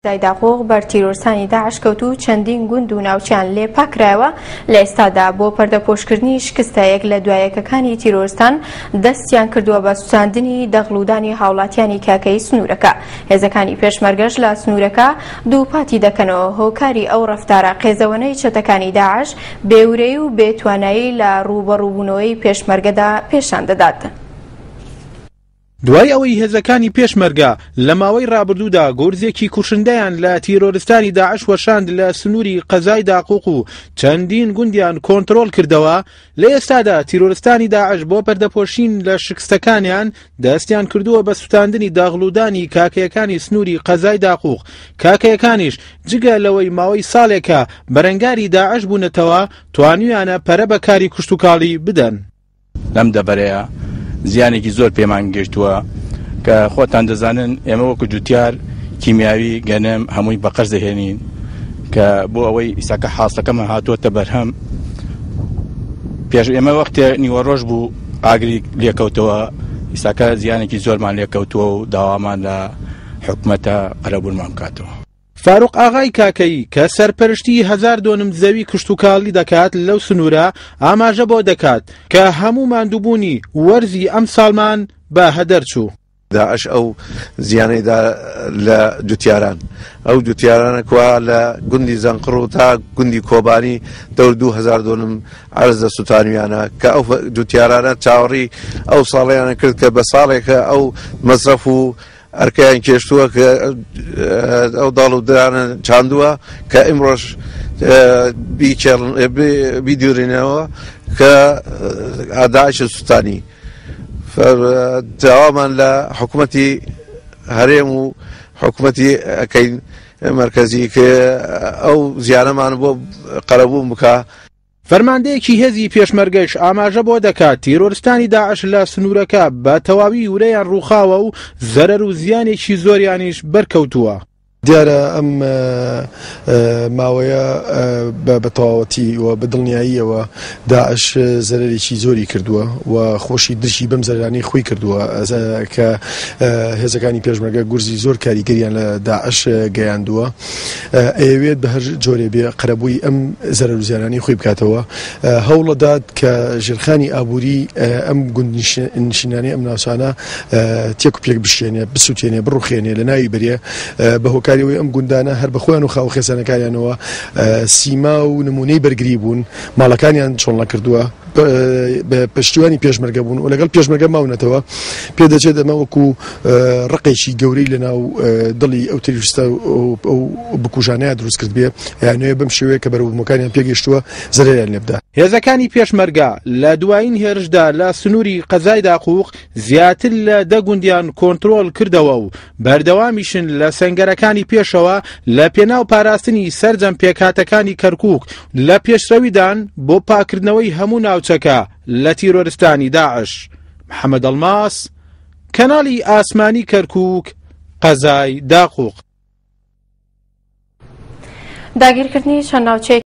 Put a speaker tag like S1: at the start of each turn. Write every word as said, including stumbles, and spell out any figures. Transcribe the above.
S1: قەزای داقوق بەر تیرۆرستانی داعش کەوت و چەندین گوند و ناوچەیان لێ پاکرایەوە. لە ئێستادا بۆ پەردەپۆشکردنی شکستە یەک لە دوایەکەکانی تیرۆرستان دەستیان کردووە بە سوتاندنی دەغڵودانی هاوڵاتیانی کاکەی سنوورەکە. هێزەکانی پێشمەرگەش لە سنوورەکە دووپاتی دەکەنەوە هۆکاری ئەو ڕەفتارە قێزەوەنەی چەتەکانی داعش بێورەی و بێتوانایی لە ڕووبەڕووبوونەوەی پێشمەرگەدا پێشان دەدات.
S2: دوای ئەوەی هێزەکانی پێشمەرگە لە ماوەی ڕابردوودا گورزێکی کوشندەیان لە تیرۆرستانی داعش وەشاند لە سنووری قەزای داقوق و چەندین گوندیان کۆنترۆڵ کردەوە، لە ئێستادا تیرۆرستانی داعش بۆ پەردەپۆشین لە شکستەکانیان دەستیان کردووە بە سوتاندنی داغڵودانی کاکەیەکانی سنووری قەزای داقوق. کاکەیەکانیش جگە لەوەی ماوەی ساڵێکە بەرەنگاری داعش بوونەتەوە، توانیویانە پەرە بە کاری کشتوکاڵی بدەن.
S3: لەم دەبەرەیە زیانێکی زۆر پێمان گەیشتووە کە خۆتان دەزانن ئێمە وەکو جوتیار کیمیاوی گەنم هەمووی بە قەرز دەهێنین کە بۆ ئەوەی ئیساکە حاصلەکەمان هاتووەتە بەرهەم. پێش ئێمە وەختێ نیوەڕۆژ بوو ئاگری لێکەوتەوە، ئیساکە زیانێکی زۆرمان لێکەوتووە و داوامان لە حکومەتە قەرەبوونمان بکاتەوە.
S2: فاروق ئاغای کاکەیی کە سەرپەرشتی هەزار دۆنم زەوی کشتوکاڵی دەکات لەو سنوورە ئاماژە بۆ دەکات کە هەموو ماندووبوونی وەرزی ئەم ساڵمان بە هەدەر چوو.
S4: داعش ئەو زیانەیدا لە جوتیاران، ئەو جوتیارانە کوا لە گوندی زەنقڕ و تا گوندی کۆبانی دەور دوو هەزار دۆنم عەرز لە سوتانویانە کە ئەو جوتیارانە چاوەڕی ئەو ساڵیانە کرد کە بە ساڵێکە ئەو مەسرەف و ئەرکەیان کێشتووە کە ئەو داڵ و درانە چاندووە کە ئیمڕۆژ بیدورینەوە کە داعش سوتانی. داوامان لە حکوومەتی هەرێم و حکوومەتی ئەکەین مەرکەزی کە ئەو زیانەمان بۆ قەرەبوو بکە.
S2: فەرماندەیەکی هێزی پێشمەرگەش ئاماژە بۆ دەکات تیرۆرستانی داعش لە سنوورەکە بە تەواوی ورەیان ڕووخاوە و زەرەر و زیانێکی زۆریانیش بەرکەوتووە.
S5: دیارە ئەم ماوەیە بە تەواوەتی و بە دڵنیاییەوە داعش زەرەرێکی زۆری کردووە و خۆشی درکی بەم زەرەرانەی خۆی کردووە کە هێزەکانی پێشمەرگە گورزی زۆر کاریگەریان لە داعش گەیاندووە. ئەیەوێت بە هەر جۆرێ بێ قەرەبووی ئەم زەرەر و زیانانەی خۆی بکاتەوە. هەوڵەدات کە ژێرخانی ئابووری ئەم گوندنشینانەی ئەم ناوچانە تێک و پێک بشێنێ، بسووتێنێ، بڕوخێنێ، لە ناوی بەرێ. بە هۆکاریەوەی ئەم گوندانە هەر بە خۆیان و خاو خێزانەکانیانەوە سیما و نمونەی بەرگری بوون، ماڵەکانیان چۆڵ نەکردووە، بە پشتیوانی پێشمەرگە بوون و لەگەڵ پێشمەرگە ماونەتەوە. پێدەچێت ئەمە وەکو ڕقێکی گەورەی لەناو دڵی ئەو تیرۆریستە ئەو بکوژانەیە دروست کرد بێ، یانەوێ بەم شێوەیە کە بەرەوبوومەکانیان پێگەیشتووە زەرەریان لێ بدا.
S2: هێزەکانی پێشمەرگە لە دوایین هێرشدا لە سنووری قەزای داقوق زیاتر لە دە گوندیان کۆنترۆڵ کردەوە و بەردەوامیشن لە سەنگەرەکانی پێشەوە لە پێناو پاراستنی سەرجەم پێکهاتەکانی کەرکووک لە پێشڕەویدان بۆ پاکردنەوەی هەموو ناوچەکە لە تیرۆرستانی داعش. محەممەد ئەڵماس، کەناڵی ئاسمانی کەرکووک، قەزای داقوق.
S1: داگیرکردنی چەند ناوچەیەک